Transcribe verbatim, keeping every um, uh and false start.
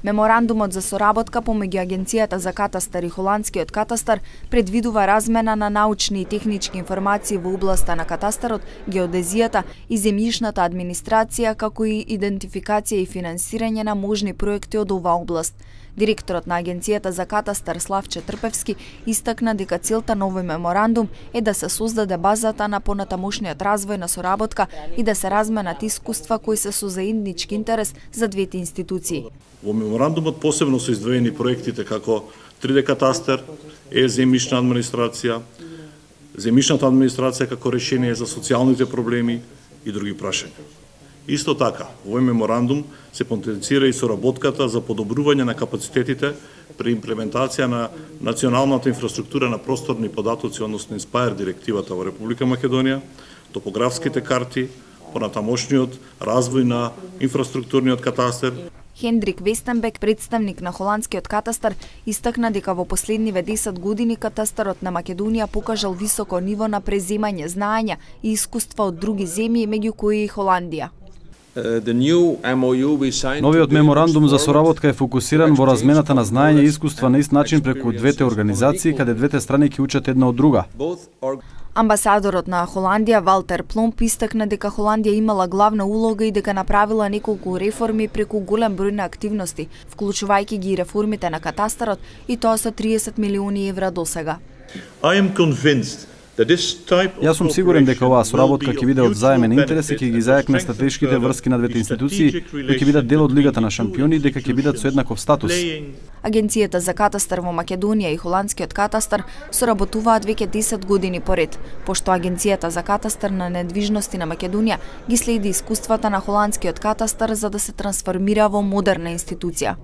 Меморандумот за соработка помеѓу Агенцијата за катастар и Холандскиот катастар предвидува размена на научни и технички информации во областа на катастарот, геодезијата и земјишната администрација, како и идентификација и финансирање на можни проекти од оваа област. Директорот на Агенцијата за катастар Славче Трпевски истакна дека целта на овој меморандум е да се создаде базата на понатамошниот развој на соработка и да се разменат искуства кои се со заеднички интерес за двете институции. Во меморандумот посебно се издвоени проектите како три Д катастар, е-земјишна администрација, земјишната администрација како решение за социјалните проблеми и други прашања. Исто така, во овој меморандум се потенцира и соработката за подобрување на капацитетите при имплементација на националната инфраструктура на просторни податоци, односно Инспајр директивата во Република Македонија, топографските карти, понатамошниот развој на инфраструктурниот катастар. Хендрик Вестенбек, представник на Холандскиот катастар, истакна дека во последниве десет години катастарот на Македонија покажал високо ниво на преземање знаења и искуства од други земји, меѓу кои и Холандија. Новиот меморандум за соработка е фокусиран во размената на знаење и искуства на ист начин преку двете организации, каде двете страни ќе учат една од друга. Амбасадорот на Холандија Валтер Пломп истакна дека Холандија имала главна улога и дека направила неколку реформи преку голем број на активности, вклучувајќи ги реформите на катастарот, и тоа со триесет милиони евра досега. Јас сум сигурен дека оваа соработка ќе биде од заемен интерес и ќе ги зајакне стратешките врски на двете институции, кои ќе бидат дел од Лигата на шампиони и дека ќе бидат со еднаков статус. Агенцијата за катастар во Македонија и Холандскиот катастар соработуваат веќе десет години поред, пошто Агенцијата за катастар на недвижности на Македонија ги следи искуствата на Холандскиот катастар за да се трансформира во модерна институција.